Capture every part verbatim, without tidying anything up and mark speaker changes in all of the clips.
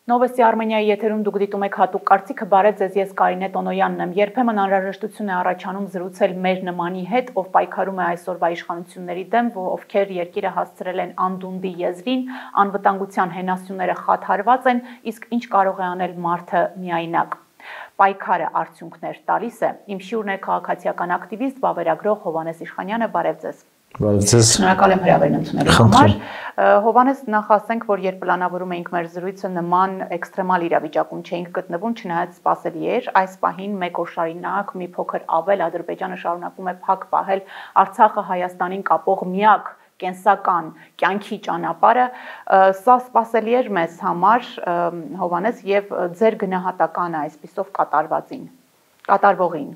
Speaker 1: Նովոստի Արմենիայի եթերում դուք դիտում եք հատուկ կարծիքը, բարև ձեզ, ես Կարինե Տոնոյանն եմ։ Երբեմն անհրաժեշտություն է առաջանում զրուցել մեր նմանի հետ, ով պայքարում է այսօրվա իշխանությունների դեմ, ովքեր երկիրը հասցրել են անդունդի եզրին, անվտանգության հենասյուները խաթարված են, իսկ ինչ կարող է անել մարդը միայնակ։ Պայքարը արդյունքներ տալիս է։ Իմ շյուրն է քաղաքացիական ակտիվիստ, վավերագրող Հովհաննես Իշխանյանը, բարև ձեզ։ Շնորհակալ եմ հրավերն ընդունելու համար։ Հովհաննես, նախ ասենք, որ երբ պլանավորում էինք մեր զրույցը, նման էքստրեմալ իրավիճակում չէինք գտնվում, չնայած սպասելի էր, այս պահին մեկ օր շարունակ մի փոքր ավել Ադրբեջանը շարունակում է փակ պահել Արցախը Հայաստանին կապող միակ կենսական կյանքի ճանապարհը, սա սպասելի էր մեզ համար, Հովհաննես, եւ ձեր գնահատականը այսպիսով կատարվածին, կատարվողին։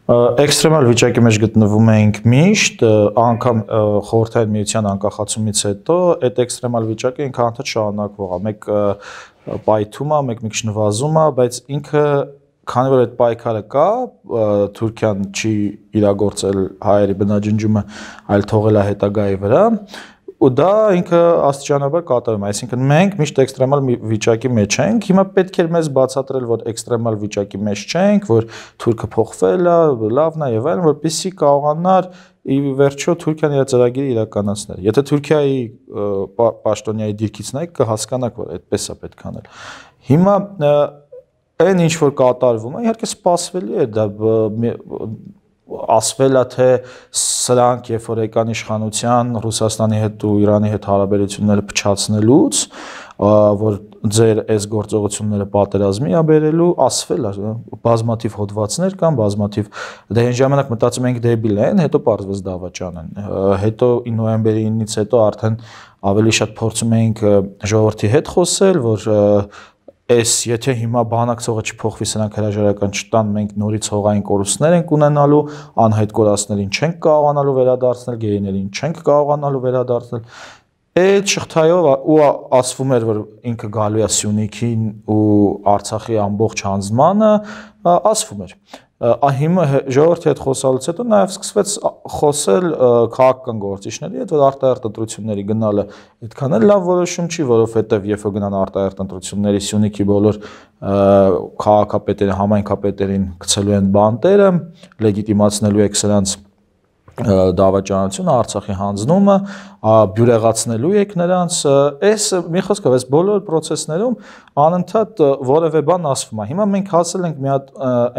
Speaker 2: Էքստրեմալ վիճակի մեջ գտնվում էինք միշտ, անգամ խորհրդային միության անկախացումից հետո այդ էքստրեմալ վիճակը ինքը անդադ շարունակվող է, մեկ պայթում է, մեկ մի քիչ նվազում է, բայց ինքը քանի որ այդ պայքարը կա, Թուրքիան չի իրագործել հայերի բնաջնջումը, այլ թողել է հետագայի վրա, ու դա ինքը աստիճանաբար կատարում է, այսինքն մենք միշտ էքստրեմալ վիճակի մեջ ենք, հիմա պետք է մեզ բացատրել, որ էքստրեմալ վիճակի մեջ չենք, որ Թուրքը փոխվել է, լավն է եւ այլն, որպեսզի կարողանար ի վերջո Թուրքիան իր ծրագիրը իրականացնել։ Եթե Թուրքիայի պաշտոնյայի դիրքից նայեք, կհասկանաք, որ այդպես է պետք անել։ Հիմա այն ինչ որ կատարվում է, իհարկե սպասվելի է, դա ասվել է, թե սրանք երբ որ եկան իշխանության Ռուսաստանի հետ ու Իրանի հետ հարաբերությունները փչացնելուց, որ ձեր այս գործողությունները պատերազմի է բերելու, ասվել է, բազմաթիվ հոդվածներ կան, բազմաթիվ, դե այն ժամանակ մտածում ենք դեբիլ են, հետո պարզվեց դավաճան են, հետո նոյեմբերի ինից հետո արդեն ավելի շատ փորձում էինք ժողովրդի հետ խոսել, որ Այս եթե հիմա բանակցողը չփոխվի, սրանք հրաժարական չտան, մենք նորից հողային կորուստներ ենք ունենալու, անհայտ կորածներին չենք կարողանալու վերադարձնել, գերիներին չենք կարողանալու վերադարձնել։ Այդ շղթայով ու ասվում էր, որ ինքը գալու է Սյունիքին ու Արցախի ամբողջ հանձնմանը, ասվում էր։ Հիմա ժողովրդի հետ խոսալուց հետո նաև սկսվեց խոսել քաղաքական գործիչների հետ, որ արտահերթ ընտրությունների գնալը այդքան էլ լավ որոշում չի, որովհետև երբ որ գնան արտահերթ ընտրությունների Սյունիքի բոլոր քաղաքապետերը, համայնքապետերին գցելու են բանտերը, լեգիտիմացնելու եք սրանց դավաճանությունը, Արցախի հանձնումը, բյուրեղացնելու եք նրանց, այս մի խոսքով, այս բոլոր պրոցեսներում անընդհատ որևէ բան ասվում է։ Հիմա մենք հասել ենք մի հատ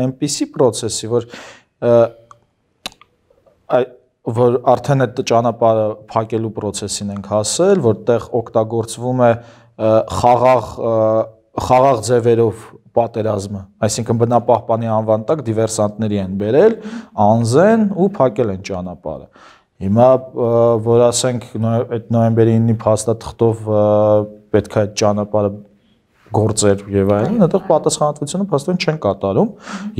Speaker 2: այնպիսի պրոցեսի, որ որ արդեն այդ ճանապարհը փակելու պրոցեսին ենք հասել, որտեղ օգտագործվում է խաղաղ խաղաղ ձևերով պատերազմը, այսինքն բնապահպանի անվան տակ դիվերսանտների են բերել, անզեն ու փակել են ճանապարհը։ Հիմա որ ասենք այդ նոյեմբերի ինը փաստաթղթով պետք է այդ ճանապարհը գործեր եւ այլն, այդտեղ պատասխանատվությունը փաստորեն չեն կատարում,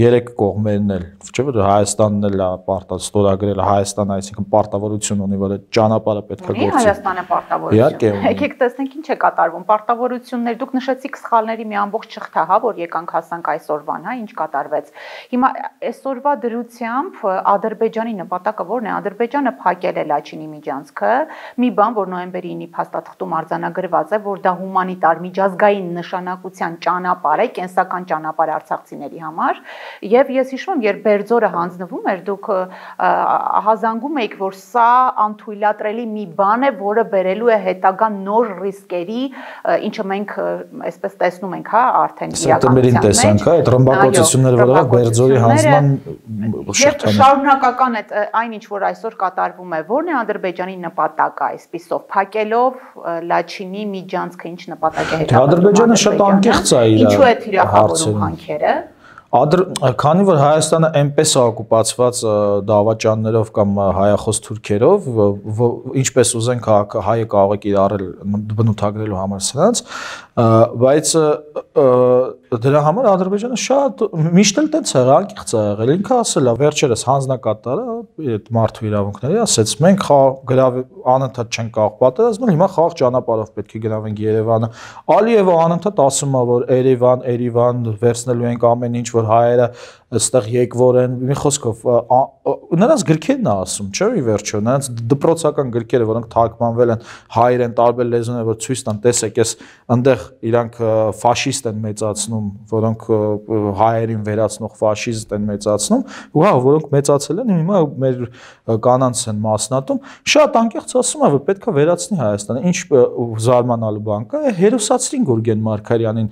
Speaker 2: երեք կողմերն էլ, չէ՞ որ Հայաստանն էլ է պարտադիր ստորագրել, Հայաստանը այսինքն պարտավորություն ունի, որ այդ ճանապարհը պետք է գործի։
Speaker 1: Հայաստանը պարտավորություն։ Եկեք տեսնենք ինչ է կատարվում, պարտավորություններ, դուք նշեցիք սխալների մի ամբողջ շղթա, հա, որ եկանք հասանք այսօրվան, հա, ինչ կատարվեց։ Հիմա այսօրվա դրությամբ Ադրբեջանի նպատակը ո՞րն է։ Ադրբեջանը փակել է Լաչինի միջանցքը, մի բան, որ նոյեմբերի ինը փաստաթղթում արձանագրված է, որ դա հումանիտար միջազգային նշանակության ճանապարհ է, կենսական ճանապարհ արցախցիների համար, եւ ես հիշում եմ, երբ Բերձորը հանձնվում էր, դուք հազանգում եք, որ սա անթույլատրելի մի բան է, որը բերելու է հետագա նոր ռիսկերի, ինչը մենք այսպես տեսնում ենք, հա, արդեն
Speaker 2: սեպտեմբերին տեսանք, հա, այդ ռմբակոծությունները, որը Բերձորի հանձնման
Speaker 1: շղթան։ Շարունակական է այն, ինչ որ այսօր կատարվում է, ո՞րն է Ադրբեջանի նպատակը այսպիսով, փակելով Լաչինի միջանցքը, ինչ նպատակ է հետապնդում։
Speaker 2: Շատ անկեղծ է իր
Speaker 1: Ինչու է թիրախավորում հանքերը։
Speaker 2: Քանի որ Հայաստանը այնպես է օկուպացված դավաճաններով կամ հայախոս թուրքերով, ինչպես ուզենք հայը կարող է կիրառել բնութագրելու համար սրանց, բայց դրա համար Ադրբեջանը շատ միշտ էլ տենց է անկեղծ է եղել, ինքը ասել է վերջերս հանձնակատարը այդ մարդու իրավունքների, ասեց մենք գրավ անընդհատ չենք կարող պատերազմել, հիմա խաղաղ ճանապարհով պետք է գնանք Երևանը։ Ալիևը անընդհատ ասում է, որ Երևան, Երևան վերցնելու ենք ամեն ինչ, որ հայերը այստեղ եկվոր են, մի խոսքով նրանց գրքերն է ասում, չէ՞ ի վերջո, նրանց դպրոցական գրքերը, որոնք թարգմանվել են հայերեն տարբեր լեզուներով, որ ցույց տան, տեսեք, էս այնտեղ իրանք ֆաշիստ են մեծացնում, որոնք հայերին վերացնող ֆաշիստ են մեծացնում, ու հա, որոնք մեծացել են, հիմա մեր կանանց են մասնատում, շատ անկեղծ ասում է, որ պետքա վերացնի Հայաստանը, ինչ զարմանալու բան կա, հերոսացրին Գուրգեն Մարգարյանին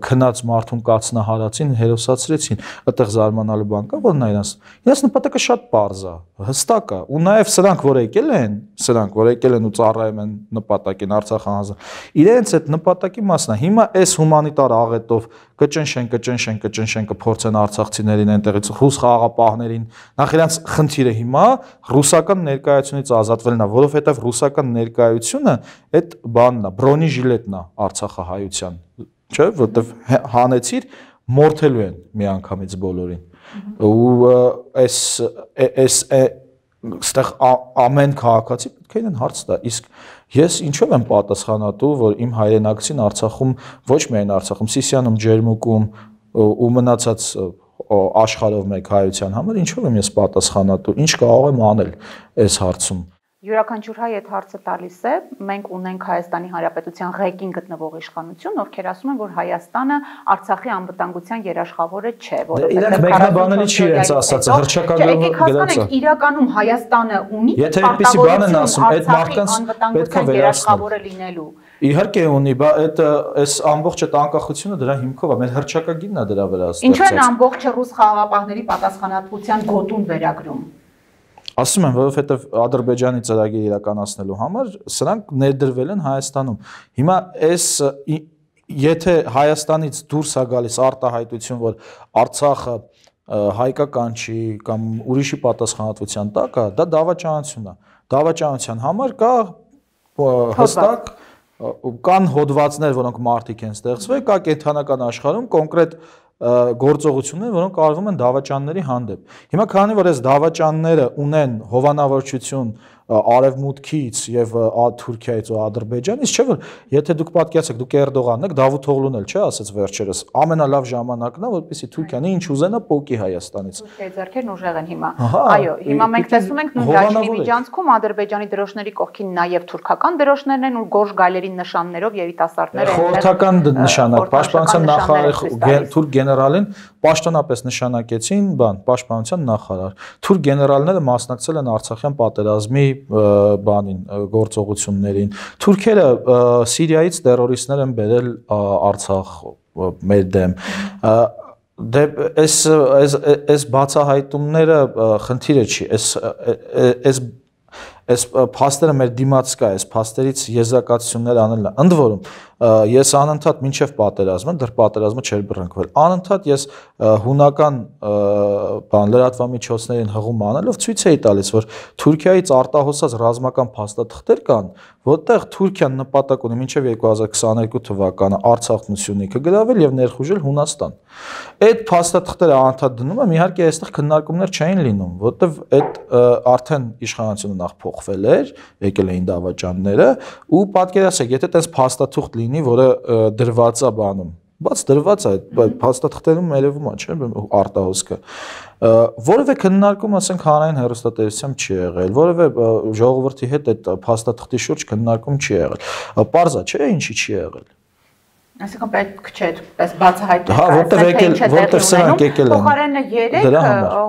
Speaker 2: քնած մարդուն կացնահարացին, հերոսացրեցին, այդտեղ զարմանալու բան կա, որ նա իրաց, իրաց նպատակը շատ պարզ է, հստակ է, ու նաև սրանք, որ եկել են, սրանք, որ եկել են ու ծառայում են նպատակին, Արցախը հանձն, իրենց այդ նպատակի մասն է, հիմա այս հումանիտար աղետով կճնշեն, կճնշեն, կճնշեն, կփորձեն արցախցիներին այնտեղից ռուս խաղաղապահներին, նախ իրանց խնդիրը հիմա ռուսական ներկայությունից ազատվելն է, որովհետև ռուսական ներկայությունը այդ բանն է, բրոնիժիլետն է Արցախահայության, չէ՞, որովհետև հանեցիր մորթելու են միանգամից բոլորին։ Ու այս այս այստեղ ամեն քաղաքացի պետք է իրեն հարց տա, իսկ ես ինչով եմ պատասխանատու, որ իմ հայրենակցին Արցախում, ոչ միայն Արցախում, Սիսիանում, Ջերմուկում ու մնացած աշխարհով մեկ հայության համար, ինչով եմ ես պատասխանատու, ինչ կարող եմ անել այս հարցում։
Speaker 1: Յուրաքանչյուր հայ այդ հարցը տալիս է, մենք ունենք Հայաստանի Հանրապետության ղեկին գտնվող իշխանություն, ովքեր ասում են, որ Հայաստանը Արցախի անվտանգության երաշխավորը չէ,
Speaker 2: որովհետև մեկնաբանելի չի իրենց ասածը, հռչակագրով գրած է։
Speaker 1: Իրականում Հայաստանը ունի
Speaker 2: եթե այդպիսի բան են ասում, այդ մարդկանց պետք է
Speaker 1: երաշխավորը լինելու։
Speaker 2: Իհարկե ունի, բա այդ այս ամբողջ այդ անկախությունը դրա հիմքով է, մեր հռչակագիրն է դրա վրա ստեղծած։
Speaker 1: Ինչու են ամբողջը ռուս խաղաղապահների պատասխանատվության գոտուն վերագրում։
Speaker 2: Ասում եմ, որովհետև Ադրբեջանի ծրագիր իրականացնելու համար սրանք ներդրվել են Հայաստանում։ Հիմա այս եթե Հայաստանից դուրս է գալիս արտահայտություն, որ Արցախը հայկական չի կամ ուրիշի պատասխանատվության տակ է, դա դավաճանություն է։ Դավաճանության համար կա հստակ կան հոդվածներ, որոնք մարդիկ են ստեղծվել, կա կենթանական աշխարհում կոնկրետ գործողություններ, որոնք արվում են դավաճանների հանդեպ։ Հիմա քանի որ այս դավաճանները ունեն հովանավորչություն Արևմուտքից եւ Թուրքիայից ու Ադրբեջանից, չէ՞ որ եթե դուք պատկերացեք, դուք Էրդողանն եք, Դավութօղլուն էլ չէ, ասաց վերջերս, ամենալավ ժամանակն է, որպեսզի Թուրքիան ինչ ուզենա պոկի Հայաստանից։
Speaker 1: Թուրքիայի ձեռքերն ուժեղ են հիմա։ Այո, հիմա մենք տեսնում ենք նույն դաշնի միջանցքում Ադրբեջանի դրոշների կողքին նաեւ թուրքական դրոշներն են ու գորշ գայլերի նշաններով երիտասարդներ են։
Speaker 2: Խորհրդական նշանակ, պաշտպանության նախարար թուրք գեներալին պաշտոնապես նշանակեցին, բան, պաշտպանության նախարար։ Թուրք գեներալները մասնակցել են Արցախյան պատերազմի բանին գործողություններին։ Թուրքերը Սիրիայից տերորիստներ են բերել Արցախ մեր դեմ։ Դե այս այս այս բացահայտումները խնդիրը չի, այս այս այս փաստերը մեր դիմաց կա, այս փաստերից եզրակացություններ անելն է։ Ընդ որում ես անընդհատ մինչև պատերազմը, դեռ պատերազմը չէր բռնկվել, անընդհատ ես հունական բան լրատվամիջոցներին հղում անելով ցույց էի տալիս, որ Թուրքիայից արտահոսած ռազմական փաստաթղթեր կան, որտեղ Թուրքիան նպատակ ունի մինչև երկու հազար քսաներկու թվականը Արցախն ու Սյունիքը գրավել եւ ներխուժել Հունաստան։ Այդ փաստաթղթերը անընդհատ դնում եմ, իհարկե այստեղ քննարկումներ չէին լինում, որտեղ այդ արդեն իշխանությունը նախ փոխվել էր, եկել էին դավաճանները ու պատկերացրեք, եթե տես փաստաթուղթ լինի, որը դրված է բանում, բաց դրված է, այդ փաստաթղթերում երևում է, չէ՞, արտահոսքը։ Որևէ քննարկում, ասենք, հանրային հեռուստատեսությամբ չի եղել, որևէ ժողովրդի հետ այդ փաստաթղթի շուրջ քննարկում չի եղել։ Պարզ է, չէ՞, ինչի չի եղել։
Speaker 1: Այսինքն պետք չէ, պես բացահայտել։
Speaker 2: Հա, որտեղ եկել, որտեղ սրանք եկել են։
Speaker 1: Փոխարենը երեք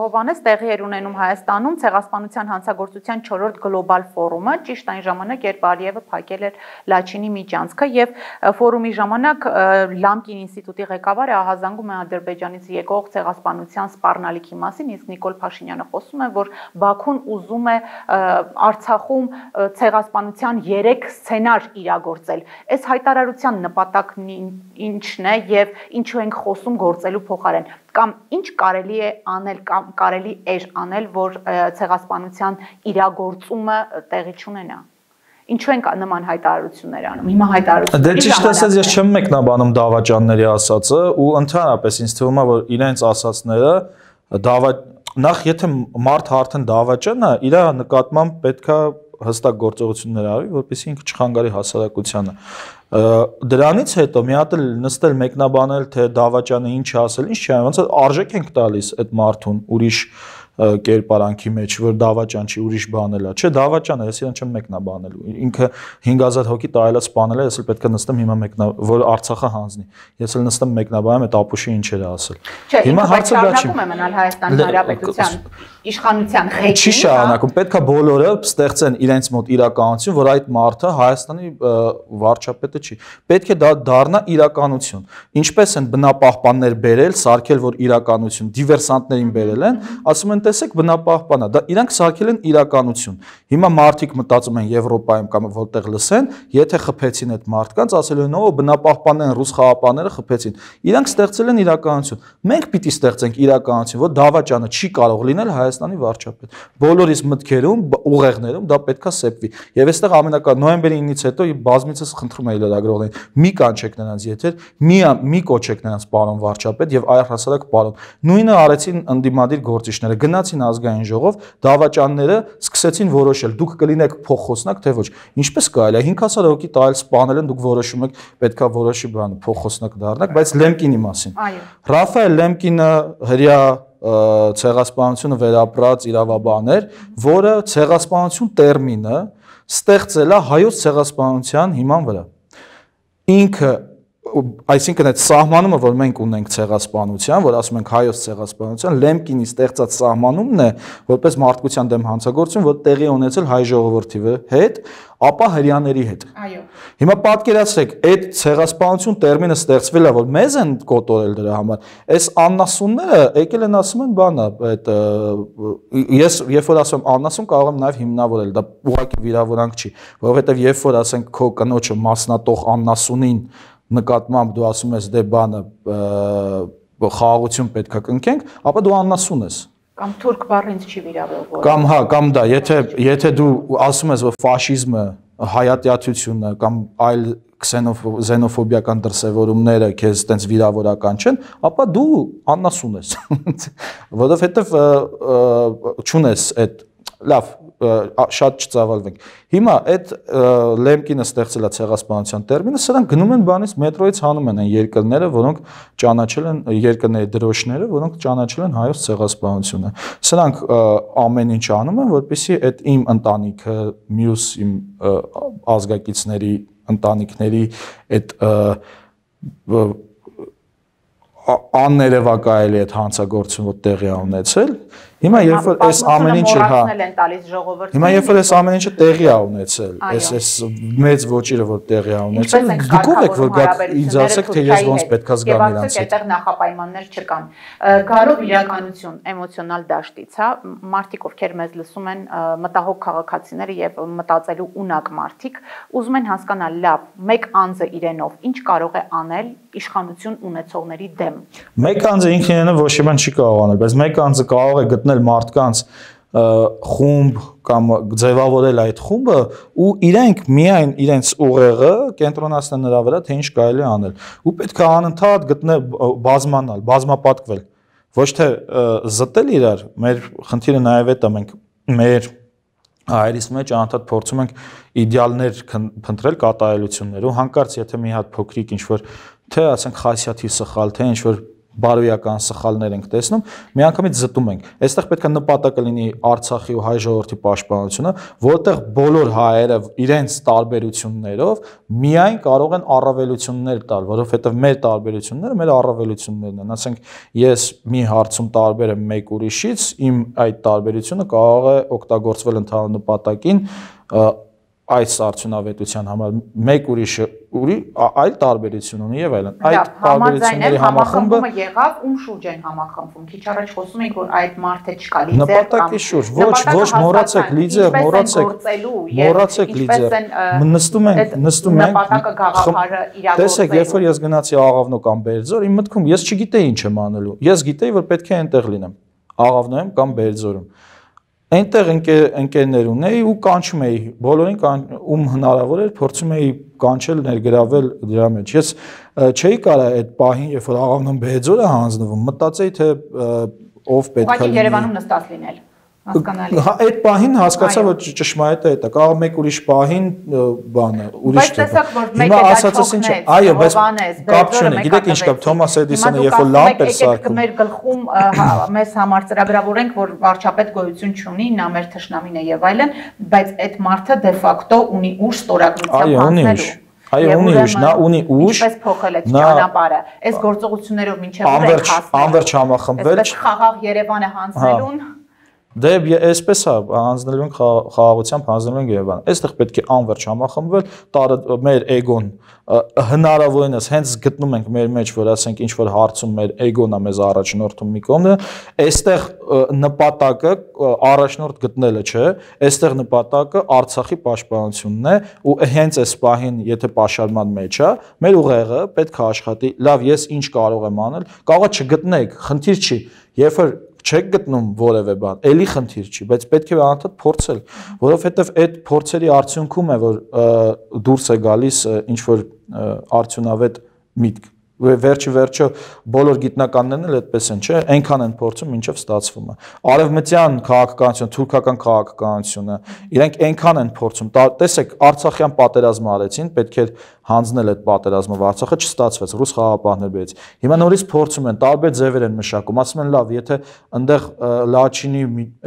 Speaker 1: Հովհաննես տեղի էր ունենում Հայաստանում ցեղասպանության հանցագործության չորրորդ գլոբալ ֆորումը, ճիշտ այն ժամանակ, երբ Ալիևը փակել էր Լաչինի միջանցքը եւ ֆորումի ժամանակ Լամկին ինստիտուտի ղեկավարը ահազանգում է Ադրբեջանից եկող ցեղասպանության սպառնալիքի մասին, իսկ Նիկոլ Փաշինյանը խոսում է, որ Բաքուն ուզում է Արցախում ցեղասպանության երեք սցենար իրագործել։ Այս հայտարարության նպատակն ինչն է եւ ինչու ենք խոսում գործելու փոխարեն կամ ինչ կարելի է անել կամ կարելի էր անել, որ ցեղասպանության իրագործումը տեղի չունենա։ Ինչու են նման հայտարարություններ անում։ Հիմա հայտարարությունները
Speaker 2: Դե ճիշտ ասած ես չեմ մեկնաբանում դավաճանների ասածը ու ընդհանրապես ինձ թվում է, որ իրենց ասածները դավա նախ եթե մարդ արդեն դավաճան է, իր նկատմամբ պետքա հստակ գործողություններ արվի, որպեսզի ինքը չխանգարի հասարակությանը։ Դրանից հետո մի հատ էլ նստել մեկնաբանել, թե դավաճանը ինչ է ասել, ինչ չի, ոնց է արժեք ենք տալիս այդ մարդուն ուրիշ կերպարանքի մեջ, որ դավաճան չի, ուրիշ բան էլա, չէ, դավաճան է, ես իրեն չեմ մեկնաբանելու, ինքը հինգ հազար հոգի տարելած սպանել է, ես էլ պետք է նստեմ հիմա մեկնա, որ Արցախը հանձնի, ես էլ նստեմ մեկնաբանեմ այդ ապուշի ինչեր է ասել։
Speaker 1: Հիմա հարցը դա չի։ Շարունակում է մնալ Հայաստանի Հանրապետության իշխանության ղեկին։
Speaker 2: Չի շարունակում, պետք է բոլորը ստեղծեն իրենց մոտ իրականություն, որ այդ մարդը Հայաստանի վարչապետը չի։ Պետք է դա դառնա իրականություն։ Ինչպես են բնապահպաններ բերել, սարքել, որ իրականություն, դիվերսանտներին բերել են, ասում են տեսեք բնապահպանա, դա իրանք սարքել են իրականություն։ Հիմա մարդիկ մտածում են Եվրոպայում կամ որտեղ լսեն, եթե խփեցին այդ մարդկանց, ասել են, օ, բնապահպաններն ռուս խաղապանները խփեցին։ Իրանք ստեղծել են իրականություն։ Մենք պիտի ստեղծենք իրականություն, որ դավաճանը չի կարող լինել Հայաստանի վարչապետ։ Բոլորիս մտքերում, ուղեղներում դա պետքա սեպվի։ Եվ այստեղ ամենակարևորը նոյեմբերի ինից հետո բազմիցս խնդրում էի լրագրողներին, մի կանչեք նրանց եթեր, մի մի կոչեք նրանց պարոն վարչապետ եւ առհասարակ պարոն։ Նույնը արեցին ընդդիմադիր գործիչները, գնացին ազգային ժողով, դավաճանները սկսեցին որոշել, դուք կլինեք փոխխոսնակ թե ոչ։ Ինչպես կարելի է հինգ հազար հոգի տարել սպանել են, դուք որոշում եք պետքա որոշի բան փոխխոսնակ դառնաք, բայց Լեմկինի մասին։ Ռաֆայել Լեմկինը հրյա ցեղասպանությունը վերապրած իրավաբան էր, որը ցեղասպանություն տերմինը ստեղծել է հայոց ցեղասպանության հիման վրա։ Ինքը այսինքն այդ սահմանումը, որ մենք ունենք ցեղասպանության, որ ասում ենք հայոց ցեղասպանության, Լեմկինի ստեղծած սահմանումն է, որպես մարդկության դեմ հանցագործություն, որ տեղի ունեցել հայ ժողովրդի հետ, ապա հрьяաների հետ։
Speaker 1: Այո։
Speaker 2: Հիմա պատկերացրեք, այդ ցեղասպանություն տերմինը ստեղծվել է, որ մեզ են կոտորել դրա համար։ Այս աննասունները եկել են ասում են բանը, այդ ես երբ որ ասում եմ աննասուն, կարող եմ նաև հիմնավորել, դա ուղղակի վիրավորանք չի, որովհետև երբ որ ասենք քո կնոջը մասնատող աննասունին նկատմամբ դու ասում ես դե բանը խաղաղություն պետք է կնքենք, ապա դու աննասուն ես։
Speaker 1: Կամ թուրք բառը ինձ չի վիրավորվում։
Speaker 2: Կամ հա, կամ դա, եթե եթե դու ասում ես, որ ֆաշիզմը, հայատյացությունը կամ այլ քսենոֆոբիական դրսևորումները քեզ տենց վիրավորական չեն, ապա դու աննասուն ես։ Որովհետև չունես այդ լավ շատ չծավալվենք։ Հիմա այդ Լեմկինը ստեղծել է ցեղասպանության տերմինը, սրանք գնում են բանից մետրոյից հանում են այն երկրները, որոնք ճանաչել են երկրների դրոշները, որոնք ճանաչել են հայոց ցեղասպանությունը։ Սրանք ամեն ինչ անում են, որպեսզի այդ իմ ընտանիքը, մյուս իմ ազգակիցների ընտանիքների այդ աններևակայելի այդ հանցագործությունը տեղի ունեցել։ Հիմա երբ որ այս ամեն ինչը հա Հիմա երբ որ այս ամեն ինչը տեղի է ունեցել, այս այս մեծ ոչիրը որ տեղի է ունեցել, դուք ով եք որ գաք ինձ ասեք թե ես ոնց պետքա զգամ իրանց հետ։
Speaker 1: Այդտեղ նախապայմաններ չկան։ Գարով իրականություն էմոցիոնալ դաշտից, հա, մարդիկ ովքեր մեզ լսում են, մտահոգ քաղաքացիները եւ մտածելու ունակ մարդիկ, ուզում են հասկանալ լավ, մեկ անձը իրենով ինչ կարող է անել իշխանություն ունեցողների դեմ։
Speaker 2: Մեկ անձը ինքն իրենով ոչ մի բան չի կարող անել, բայց մեկ անձը կարող է գտնել մարդկանց խումբ կամ ձևավորել այդ խումբը ու իրենք միայն իրենց ուղեղը կենտրոնացնել նրա վրա, թե ինչ կարելի անել։ Ու պետք է անընդհատ գտնել բազմանալ, բազմապատկվել, ոչ թե զտել իրար, մեր խնդիրը նաև այդ է, մենք մեր հայերիս մեջ անընդհատ փորձում ենք իդեալներ փնտրել կատարելություններ ու հանկարծ եթե մի հատ փոքրիկ ինչ որ թե ասենք խասյաթի սխալ, թե ինչ որ բարոյական սխալներ ենք տեսնում, միանգամից զտում ենք։ Այստեղ պետք է նպատակը լինի Արցախի ու հայ ժողովրդի պաշտպանությունը, որտեղ բոլոր հայերը իրենց տարբերություններով միայն կարող են առավելություններ տալ, որովհետև մեր տարբերությունները մեր առավելություններն են։ Ասենք ես մի հարցում տարբեր եմ մեկ ուրիշից, իմ այդ տարբերությունը կարող է օգտագործվել ընդհանուր նպատակին այս արդյունավետության համար մեկ ուրիշը ուրի այլ տարբերություն ունի եւ այլն
Speaker 1: այդ տարբերությունների համախմբումը եղավ ում շուրջ են համախմբվում քիչ առաջ խոսում ենք որ այդ մարդը չկա լիդեր
Speaker 2: նպատակի շուրջ ոչ ոչ մոռացեք լիդեր մոռացեք մոռացեք լիդեր նստում ենք նստում ենք
Speaker 1: նպատակը գաղափարը իրագործել
Speaker 2: տեսեք երբ որ ես գնացի Աղավնո կամ Բերձոր իմ մտքում ես չգիտեի ինչ եմ անելու ես գիտեի որ պետք է այնտեղ լինեմ Աղավնոյում կամ Բերձորում Այնտեղ ընկերներ ունեի ու կանչում էի, բոլորին ում հնարավոր էր փորձում էի կանչել ներգրավել դրա մեջ։ Ես չէի կարող այդ պահին, երբ որ Աղավնոն Բերձորը հանձնվում, մտածեի թե ով պետք է
Speaker 1: լինի։ Ուղղակի Երևանում նստած լինել։ Հասկանալի։
Speaker 2: Այդ պահին հասկացա, որ ճշմարիտ է դա, կարող մեկ ուրիշ պահին բանը, ուրիշ
Speaker 1: դեպք։ Բայց տեսակ որ
Speaker 2: մեկ է դա չոքնեց, այո, բայց կապ չունի, գիտեք ինչ կապ, Թոմաս Էդիսոնը երբ որ լամպ էր սարքում։
Speaker 1: Մեր գլխում մեզ համար ծրագրավորենք, որ վարչապետ գոյություն չունի, նա մեր թշնամին է եւ այլն, բայց այդ մարդը դե ֆակտո ունի ուժ ստորագրությամբ հանձնելու։
Speaker 2: Այո, ունի ուժ, նա ունի ուժ։
Speaker 1: Ինչպես փոխել է ճանապարհը։ Այս գործողություններով մինչև ուր է հասնել։
Speaker 2: Անverջ համախմբվել։
Speaker 1: Այսպես խաղաղ Երևանը հանձնելուն։
Speaker 2: Դե այսպես է, հանձնելու ենք խաղաղությամբ, հանձնելու ենք Երևանը։ Այստեղ պետք է անverջ համախմբվել, տարը մեր էգոն հնարավորինս հենց գտնում ենք մեր մեջ, որ ասենք ինչ որ հարցում մեր էգոնը մեզ առաջնորդում մի կողմը, այստեղ նպատակը առաջնորդ գտնելը չէ, այստեղ նպատակը Արցախի պաշտպանությունն է ու հենց այս պահին, եթե պաշարման մեջ է, մեր ուղեղը պետք է աշխատի, լավ, ես ինչ կարող եմ անել, կարող է չգտնեք, խնդիր չի, երբ որ չեք գտնում որևէ բան, էլի խնդիր չի, բայց պետք է անընդհատ փորձել, որովհետև այդ փորձերի արդյունքում է, որ դուրս է գալիս ինչ որ արդյունավետ միտք։ Վերջի վերջը բոլոր գիտնականներն էլ այդպես են, չէ, այնքան են փորձում, ինչև ստացվում է։ Արևմտյան քաղաքականությունը, թուրքական քաղաքականությունը, իրենք այնքան են փորձում, տեսեք, Արցախյան պատերազմը արեցին, պետք է հանձնել այդ պատերազմը, Արցախը չստացվեց, ռուս խաղաղապահներ բերեց։ Հիմա նորից փորձում են, տարբեր ձևեր են մշակում, ասում են, լավ, եթե այնտեղ Լաչինի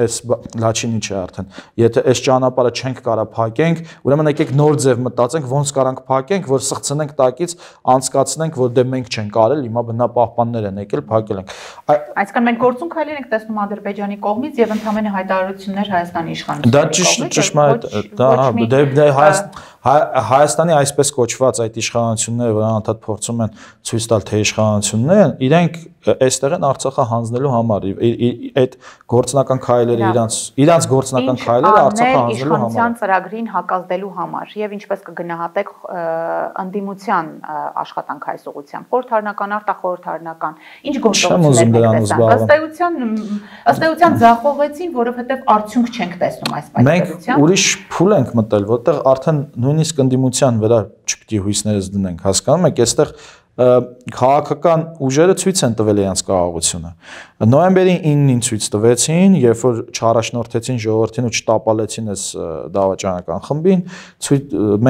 Speaker 2: այս Լաչինի չէ արդեն, եթե այս ճանապարհը չենք կարա փակենք, ուրեմն եկեք նոր ձև մտածենք, ոնց կարանք փակենք, որ սղծնենք տակից, անցկացնենք, որ դե մենք չենք արել, հիմա բնապահպաններ են եկել, փակել ենք։
Speaker 1: Այսինքն մենք գործուն քայլեր ենք տեսնում Ադրբեջանի կողմից եւ ընդհանրապես հայտարարություններ Հայաստանի իշխանությունների։
Speaker 2: Դա ճիշտ ճշմարիտ, դա դե Հայաստանի այսպես կոչված այդ իշխանությունները, որ անընդհատ փորձում են ցույց տալ, թե իշխանություններ են, իրենք այստեղ են Արցախը հանձնելու համար, այդ գործնական քայլերը իրանց իրանց գործնական քայլերը Արցախը հանձնելու համար։
Speaker 1: Իշխանության ծրագրին հակազդելու համար եւ ինչպես կգնահատեք անդիմության աշխատանք այս ուղղությամբ, խորհրդարանական, արտախորհրդարանական, ինչ գործողություններ եք տեսնում։ Ըստ էության ըստ էության ձախողեցին, որովհետեւ արդյունք չենք տեսնում այս պայմաններում։
Speaker 2: Մենք ուրիշ փուլ ենք մտել, որտեղ արդեն նույնիսկ անդիմության վրա չպետք է հույսներս դնենք, հասկանում եք, այստեղ քաղաքական ուժերը ցույց են տվել իրենց կարողությունը։ Նոյեմբերի իննին ցույց տվեցին, երբ որ չառաջնորդեցին ժողովրդին ու չտապալեցին այս դավաճանական խմբին,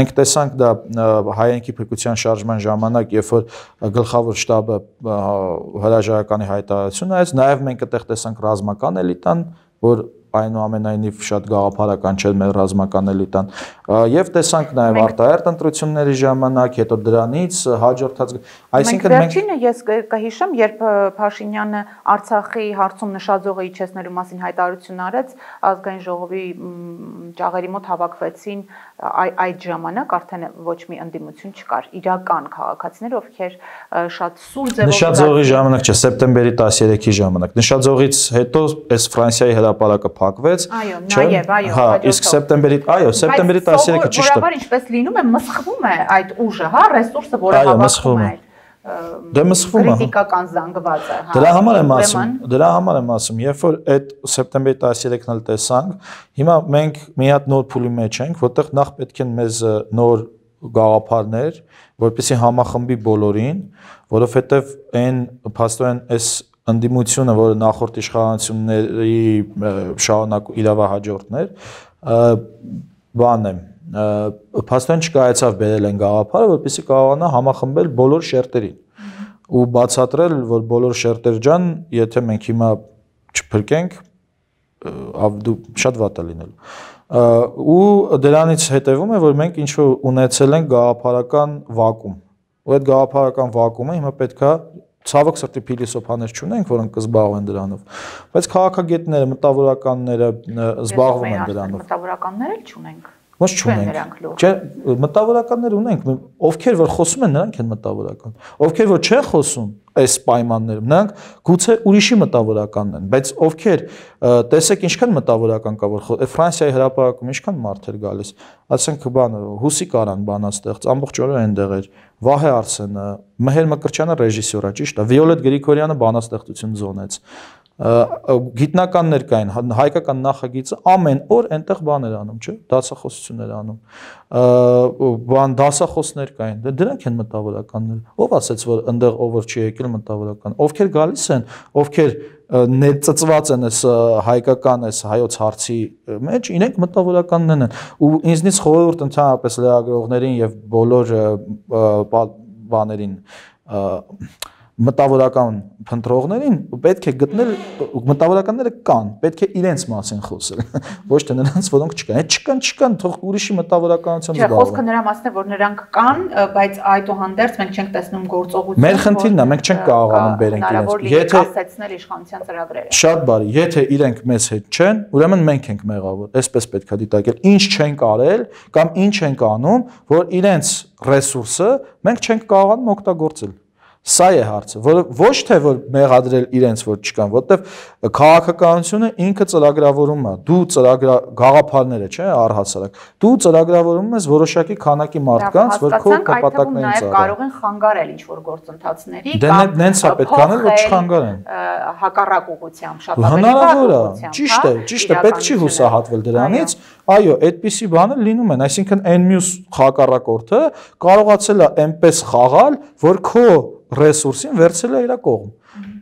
Speaker 2: մենք տեսանք դա հայերենի փրկության շարժման ժամանակ, երբ որ գլխավոր շտաբը հրաժարականի հայտարարություն արեց, նաև մենք այդտեղ տեսանք ռազմական էլիտան, որ այնուամենայնիվ շատ գաղափարական չէր մեր ռազմական էլիտան, եւ տեսանք նաեւ արտահերտ ընտրությունների ժամանակ, հետո դրանից հաջորդած,
Speaker 1: այսինքն մենք վերջինը ես կհիշեմ, երբ Փաշինյանը Արցախի հարցում նշաձողը իջեցնելու մասին հայտարարություն արեց, ազգային ժողովի ճաղերի մոտ հավաքվեցին այդ ժամանակ արդեն ոչ մի ընդդիմություն չկար, իրական քաղաքացիներ, ովքեր շատ սուր ձևով
Speaker 2: նշաձողի ժամանակ չէ, սեպտեմբերի տասներեքի ժամանակ, նշաձողից հետո այս Ֆրանսիայի հրապարակը փակվեց,
Speaker 1: այո, նաեւ, այո,
Speaker 2: հա, իսկ սեպտեմբերի, այո, սեպտեմբերի տասներեքը ճիշտ է։
Speaker 1: Որովհետեւ ինչպես լինում է, մսխվում է այդ ուժը, հա, ռեսուրսը, որը հավաքում է։
Speaker 2: Դե մսխվում է։
Speaker 1: Քրիտիկական զանգվածը, հա։
Speaker 2: Դրա համար եմ ասում, դրա համար եմ ասում, երբ որ այդ սեպտեմբերի տասներեքն էլ տեսանք, հիմա մենք մի հատ նոր փուլի մեջ ենք, որտեղ նախ պետք են մեզ նոր գաղափարներ, որպեսզի համախմբի բոլորին, որովհետեւ այն փաստորեն այս ընդդիմությունը, որը նախորդ իշխանությունների շարունակ իրավահաջորդներ, բան է, փաստորեն չկարեցավ բերել են գաղափարը, որպեսզի կարողանա համախմբել բոլոր շերտերին ու բացատրել, որ բոլոր շերտեր ջան, եթե մենք հիմա չփրկենք, դու շատ վատ է լինելու։ Ու դրանից հետևում է, որ մենք ինչ-որ ունեցել ենք գաղափարական վակուում։ Ու այդ գաղափարական վակուումը հիմա պետքա ցավոք սրտի փիլիսոփաներ չունենք, որոնք կզբաղվեն դրանով, բայց քաղաքագետները, մտավորականները զբաղվում են դրանով։
Speaker 1: Մտավորականներ էլ չունենք։
Speaker 2: Ոչ չունենք։ Չէ, մտավորականներ ունենք, ովքեր որ խոսում են, նրանք են մտավորական։ Ովքեր որ չեն խոսում այս պայմաններում, նրանք գուցե ուրիշի մտավորականն են, բայց ովքեր տեսեք ինչքան մտավորական կա, որ Ֆրանսիայի հրապարակում ինչքան մարդ էր գալիս, ասենք բանը Հուսիկ Արան բանաստեղծ, ամբողջ օրը այնտեղ էր, Վահե Արսենը, Մհեր Մկրտչյանը ռեժիսոր է, ճիշտ է, Վիոլետ Գրիգորյանը բանաստեղծություն զոնեց։ գիտնականներ կային, հայկական նախագիծը ամեն օր այնտեղ բաներ անում, չէ՞, դասախոսություններ անում։ Բան դասախոսներ կային, դրանք են մտավորականները։ Ով ասեց, որ այնտեղ ով որ չի եկել մտավորական, ովքեր գալիս են, ովքեր ներծծված են այս հայկական այս հայոց հարցի մեջ, իրենք մտավորականներն են։ Ու ինձնից խորհուրդ ընդհանրապես լրագրողներին եւ բոլոր բաներին մտավորական փնտրողներին պետք է գտնել մտավորականները կան, պետք է իրենց մասին խոսել, ոչ թե նրանց, որոնք չկան։ Այդ չկան, չկան, թող ուրիշի մտավորականությամբ զբաղվեն։
Speaker 1: Չէ, խոսքը նրա մասն է, որ նրանք կան, բայց այդուհանդերձ մենք չենք տեսնում գործողություն։
Speaker 2: Մեր խնդիրն է, մենք չենք կարողանում բերենք իրենց։
Speaker 1: Եթե ասեցնել իշխանության ծրագրերը։
Speaker 2: Շատ բարի, եթե իրենք մեզ հետ չեն, ուրեմն մենք ենք մեղավոր, այսպես պետք է դիտարկել։ Ինչ չենք արել կամ ինչ ենք անում, որ իրենց ռեսուրսը մենք չենք կարողանում օգտագործել։ Սա է հարցը, որ ոչ թե որ մեղադրել իրենց որ չկան, որովհետև քաղաքականությունը ինքը ծրագրավորում է, դու ծրագրա գաղափարները, չէ, առհասարակ։ Դու ծրագրավորում ես որոշակի քանակի մարդկանց, որ քո նպատակներին ծառայեն։
Speaker 1: Կարող են խանգարել ինչ որ գործընթացների
Speaker 2: կամ նենց է պետք անել, որ չխանգարեն։
Speaker 1: Հակառակ ուղղությամբ շատ
Speaker 2: հնարավոր է։ Ճիշտ է, ճիշտ է, պետք չի հուսահատվել դրանից։ Այո, այդպիսի բաներ լինում են, այսինքն այն մյուս հակառակորդը կարողացել է այնպես խաղալ, որ քո ռեսուրսին վերցել է իր կողմ։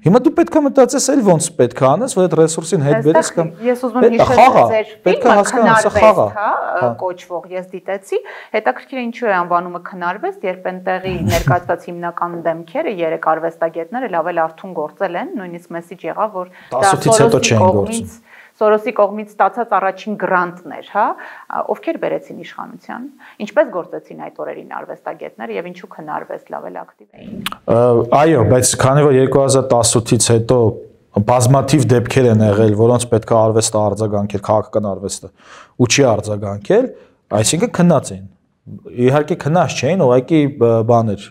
Speaker 2: Հիմա դու պետք է մտածես էլ ոնց պետք է անես, որ այդ ռեսուրսին հետ բերես կամ
Speaker 1: ես ուզում եմ հիշել ձեր ֆիլմը քննարվեստ, հա, կոչվող, ես դիտեցի, հետաքրքիր է ինչու է անվանումը քննարվեստ, երբ այնտեղի ներկայացված հիմնական դեմքերը երեք արվեստագետները լավ էլ արթուն գործել են, նույնիսկ մեսիջ եղավ, որ դա Սորոսի կողմից Սորոսի կողմից ստացած առաջին գրանտներ, հա, ովքեր բերեցին իշխանության, ինչպես գործեցին այդ օրերին արվեստագետները եւ ինչու քննարվեստ լավ էլ ակտիվ էին։
Speaker 2: Այո, բայց քանի որ երկու հազար տասութից հետո բազմաթիվ դեպքեր են եղել, որոնց պետք է արվեստը արձագանքել, քաղաքական արվեստը, ու չի արձագանքել, այսինքն քննած էին։ Իհարկե քննած չէին, ուղղակի բաներ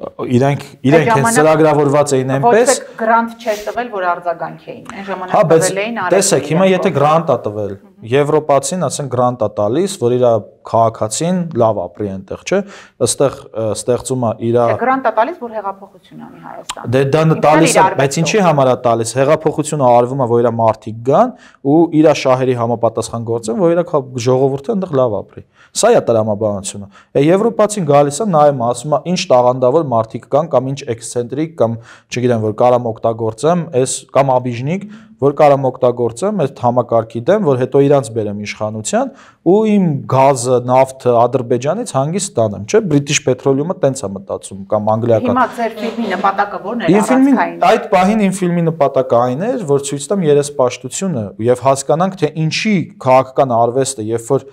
Speaker 2: Իրանք իրենք հենց ծրագրավորված էին այնպես։
Speaker 1: Ոչ թե գրանտ չէր տվել, որ արձագանքեին։ Այն ժամանակ
Speaker 2: տվել
Speaker 1: էին
Speaker 2: արել։ Տեսեք, հիմա եթե գրանտ է տվել, Եվրոպացին, ասենք գրանտ է տալիս, որ իր քաղաքացին լավ ապրի այնտեղ, չէ՞։ Այստեղ ստեղծում է իր
Speaker 1: Գրանտ է տալիս, որ հեղափոխություն անի Հայաստանում։
Speaker 2: Դե դա տալիս է, բայց ինչի համար է տալիս։ Հեղափոխությունը արվում է, որ իր մարդիկ գան ու իր շահերի համապատասխան գործեն, որ իր ժողովուրդը այնտեղ լավ ապրի։ Սա է տրամաբանությունը։ Եվրոպացին գալիս է նայում, ասում է, ինչ տաղանդավոր մարդիկ կան կամ ինչ էքսցենտրիկ կամ չգիտեմ, որ կարամ օգտագործեմ, այս կամ աբիժնիկ, որ կարամ օգտագործեմ այդ համակարգի դեմ, որ հետո իրանց բերեմ իշխանության ու իմ գազը, նավթը Ադրբեջանից հանգիստ տանեմ, չէ՞, British Petroleum-ը տենց է մտածում կամ անգլիական։
Speaker 1: Հիմա ձեր ֆիլմի նպատակը ո՞րն էր
Speaker 2: առանցքային։ Այդ պահին իմ ֆիլմի նպատակը այն էր, որ ցույց տամ երեսպաշտությունը եւ հասկանանք, թե ինչի քաղաքական արվեստը, երբ որ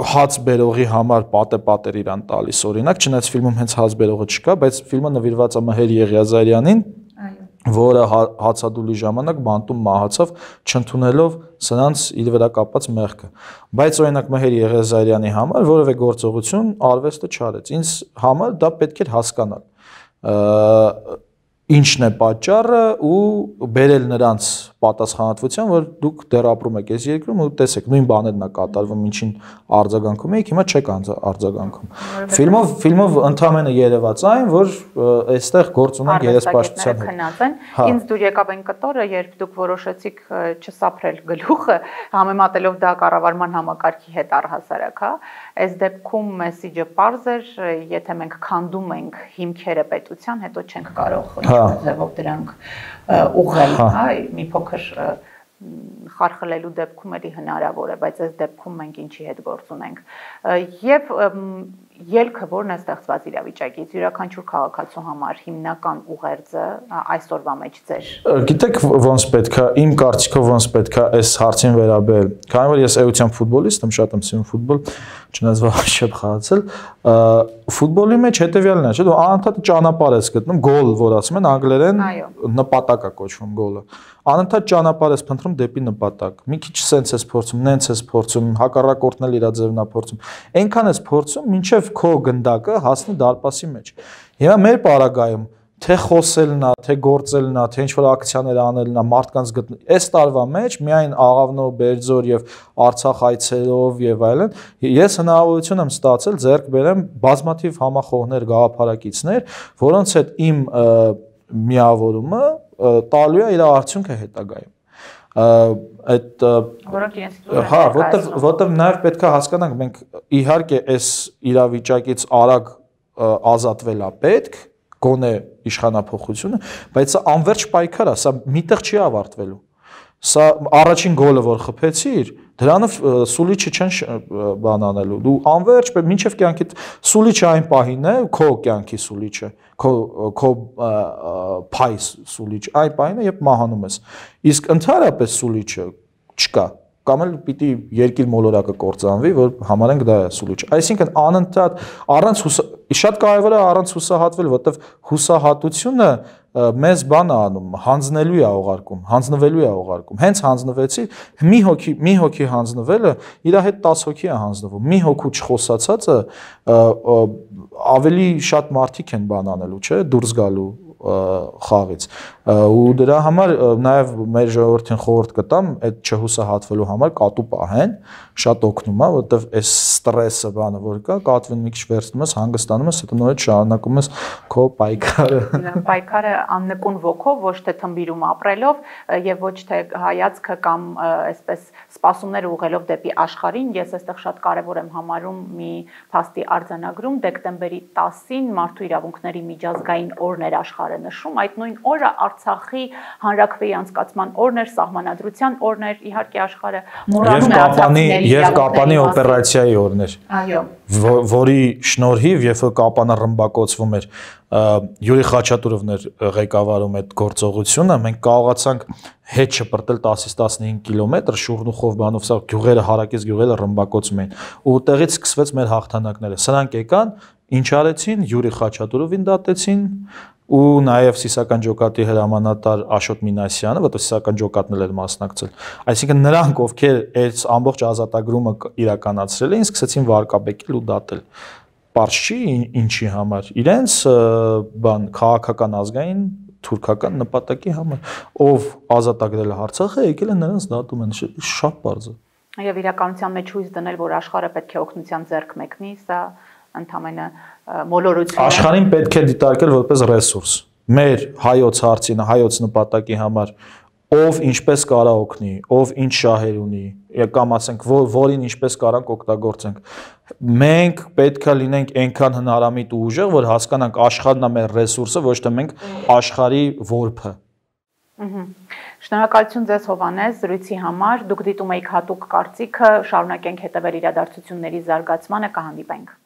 Speaker 2: հաց բերողի համար պատե-պատեր իրան տալիս, օրինակ, չնայած ֆիլմում հենց հաց բերողը չկա, բայց ֆիլմը նվիրված է Մհեր Եղիազարյանին, որը հացադուլի ժամանակ բանտում մահացավ, չընդունելով սրանց իր վրա կապած մեղքը։ Բայց օրինակ Մհեր Եղիազարյանի համար որևէ գործողություն արվեստը չարեց։ Ինձ համար դա պետք էր հասկանալ։ Ինչն է պատճառը ու բերել նրանց պատասխանատվության, որ դուք դեռ ապրում եք այս երկրում ու տեսեք, նույն բաներն է կատարվում, ինչին արձագանքում եք, հիմա չեք արձագանքում։ Ֆիլմով ֆիլմով ընդհանրապես երևաց այն, որ այստեղ գործ ունեն երեսպաշտության հետ։
Speaker 1: Ինձ դուր եկավ այն կտորը, երբ դուք որոշեցիք չսափրել գլուխը, համեմատելով դա կառավարման համակարգի հետ առհասարակ, հա։ Այս դեպքում մեսիջը պարզ էր, եթե մենք քանդում ենք հիմքերը պետության, հետո չենք կարող ձևով դրանք ուղղել, հա, մի փոքր խարխլելու դեպքում էլի հնարավոր է, բայց այս դեպքում մենք ինչի հետ գործ ունենք։ Եվ ելքը որն է ստեղծված իրավիճակից, յուրաքանչյուր քաղաքացու համար հիմնական ուղերձը այսօրվա մեջ ձեր։
Speaker 2: Գիտեք ոնց պետք է, իմ կարծիքով ոնց պետք է այս հարցին վերաբերել։ Քանի որ ես էության ֆուտբոլիստ եմ, շատ եմ սիրում ֆուտբոլ, չնայած վաղ չեմ խաղացել, ֆուտբոլի մեջ հետևյալն է, չէ՞, դու անընդհատ ճանապարհ ես գտնում, գոլ, որ ասում են անգլերեն, նպատակ է կոչվում գոլը։ Անընդհատ ճանապարհ ես փնտրում դեպի նպատակ։ Մի քիչ սենց ես փորձում, նենց ես փորձում, հակառակորդն էլ իր ձևն է փորձում։ Այնքան ես փորձում, մինչև քո գնդակը հասնի դարպասի մեջ։ Հիմա մեր պարագայում թե խոսելն է, թե գործելն է, թե ինչ-որ ակցիաներ անելն է, մարդկանց գտնել։ Այս տարվա մեջ միայն Աղավնո, Բերձոր եւ Արցախ այցերով եւ այլն, ես հնարավորություն եմ ստացել ձեռք բերեմ բազմաթիվ համախոհներ, գաղափարակիցներ, որոնց հետ իմ միավորումը տալու է իր արդյունքը հետագայում։ Այդ
Speaker 1: որոնք իրենց
Speaker 2: հա, որտեվ որտեվ նաև պետք է հասկանանք, մենք իհարկե այս իրավիճակից արագ ազատվել է պետք, գոնե իշխանափոխությունը, բայց սա անverջ պայքար է, սա միտեղ չի ավարտվելու։ Սա առաջին գոլը, որ խփեցիր, դրանով սուլիչը չեն բան անելու։ Դու անverջ մինչև կյանքիդ սուլիչը այն պահին է, քո կյանքի սուլիչը, քո քո փայ սուլիչ, այն պահին է, երբ մահանում ես։ Իսկ ընդհանրապես սուլիչը չկա։ Կամ էլ պիտի երկիր մոլորակը կործանվի, որ համարենք դա է սուլիչ։ Այսինքն անընդհատ առանց շատ կարևոր է առանց հուսահատվել, որտեվ հուսահատությունը մեզ բան է անում, հանձնելու է ուղարկում, հանձնվելու է ուղարկում։ Հենց հանձնվեցի, մի հոգի, մի հոգի հանձնվելը իր հետ տասը հոգի է հանձնվում։ Մի հոգու չխոսացածը ավելի շատ մարդիկ են բան անելու, չէ՞, դուրս գալու խաղից ու դրա համար նաև մեր ժողովրդին խորհուրդ կտամ այդ չհուսահատվելու համար կատու պահեն շատ օգնում է որովհետև այս ստրեսը բանը որ կա կատվին մի քիչ վերցնում ես հանգստանում ես հետո նորից շարունակում ես քո պայքարը
Speaker 1: պայքարը աննկուն ոգով ոչ թե թմբիրում ապրելով եւ ոչ թե հայացքը կամ այսպես սպասումներ ուղղելով դեպի աշխարհին ես այստեղ շատ կարեւոր եմ համարում մի փաստի արձանագրում դեկտեմբերի տասին մարդու իրավունքների միջազգային օրն էր աշխարհը նշում այդ նույն օրը Արցախի հանրաքվեի անցկացման օրն էր, սահմանադրության օրն էր, իհարկե աշխարհը մոռանում է արցախցիների
Speaker 2: եւ Կապանի օպերացիայի օրն էր։
Speaker 1: Այո։
Speaker 2: Որի շնորհիվ, երբ որ Կապանը ռմբակոծվում էր, Յուրի Խաչատուրովն էր ղեկավարում այդ գործողությունը, մենք կարողացանք հետ շպրտել տասից տասնհինգ կիլոմետր շուռնուխով բանով, սա գյուղերը հարակից գյուղերը ռմբակոծում էին։ Ու տեղից սկսվեց մեր հաղթանակները։ Սրանք եկան, ինչ արեցին, Յուրի Խաչատուրովին դատեցին ու նաև Սիսական ջոկատի հրամանատար Աշոտ Մինասյանը, որտեղ Սիսական ջոկատն էր մասնակցել։ Այսինքն նրանք, ովքեր այս ամբողջ ազատագրումը իրականացրել էին, սկսեցին վարկաբեկել ու դատել։ Պարզ չի ինչի համար։ Իրենց բան քաղաքական ազգային թուրքական նպատակի համար, ով ազատագրել է Արցախը, եկել են նրանց դատում են, շատ պարզ է։
Speaker 1: Եվ իրականության մեջ հույս դնել, որ աշխարհը պետք է օգնության ձեռք մեկնի, սա ընդհանրապես մոլորություն է։
Speaker 2: Աշխարհին պետք է դիտարկել որպես ռեսուրս։ Մեր հայոց հարցին, հայոց նպատակի համար ով ինչպես կարա օգնի, ով ինչ շահեր ունի, կամ ասենք որին ինչպես կարանք օգտագործենք։ Մենք պետք է լինենք այնքան հնարամիտ ու ուժեղ, որ հասկանանք աշխարհն է մեր ռեսուրսը, ոչ թե մենք աշխարհի որբը։
Speaker 1: Շնորհակալություն ձեզ Հովհաննես զրույցի համար։ Դուք դիտում եք հատուկ կարծիքը, շարունակենք հետևել իրադարձությունների զարգացմանը, կհանդիպենք։